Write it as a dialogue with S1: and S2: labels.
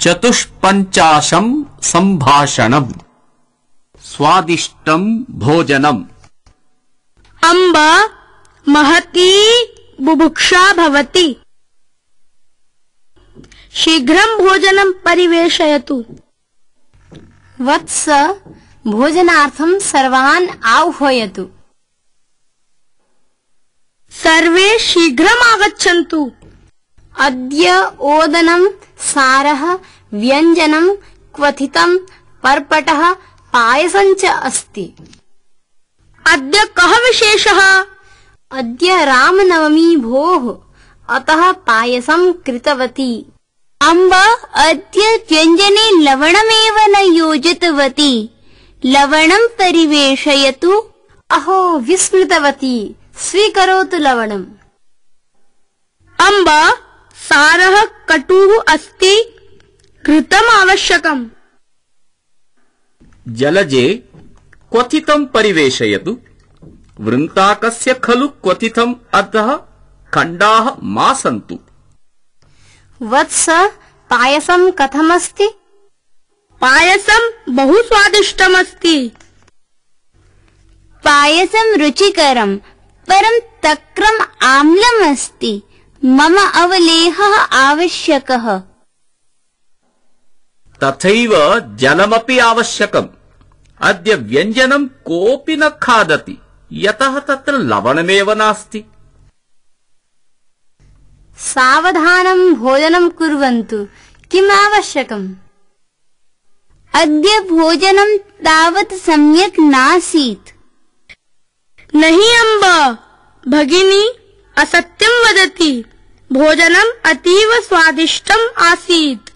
S1: चतुष्पञ्चाशं सम्भाषणम् स्वादिष्टं भोजनम्।
S2: अम्ब महती बुभुक्षा भवति। शीघ्रं भोजनं परिवेशयतु।
S3: वत्स भोजनार्थं सर्वान् आह्वयतु।
S2: सर्वे शीघ्रम् आगच्छन्तु।
S3: अद्य ओदनं सारः व्यञ्जनं क्वथितं पर्पटः पायसं च अस्ति।
S2: अद्य कः विशेषः?
S3: अद्य रामनवमी भोः, अतः पायसं कृतवती। अम्ब अद्य व्यञ्जने लवणमेव न योजितवती। लवणं परिवेशयतु। अहो विस्मृतवती, स्वीकरोतु लवणम्।
S2: अम्ब सारः कटुः अस्ति, घृतम् आवश्यकम्।
S1: जलजे क्वथितं परिवेशयतु। वृन्ताकस्य खलु क्वथितम् अतः खण्डाः मा सन्तु।
S3: वत्स पायसं कथमस्ति?
S2: पायसं बहु स्वादिष्टमस्ति।
S3: पायसं रुचिकरं, परं तक्रम् आम्लम् अस्ति। मम अवलेहः आवश्यकः।
S1: तथैव जलमपि आवश्यकम्। अद्य व्यञ्जनं कोऽपि न खादति, यतः तत्र लवणमेव नास्ति।
S3: सावधानं भोजनं कुर्वन्तु। किम् आवश्यकम्? अद्य भोजनं तावत् सम्यक् नासीत्।
S2: नहि अम्ब, भगिनी असत्यं वदति। भोजनम् अतीव स्वादिष्टम् आसीत्।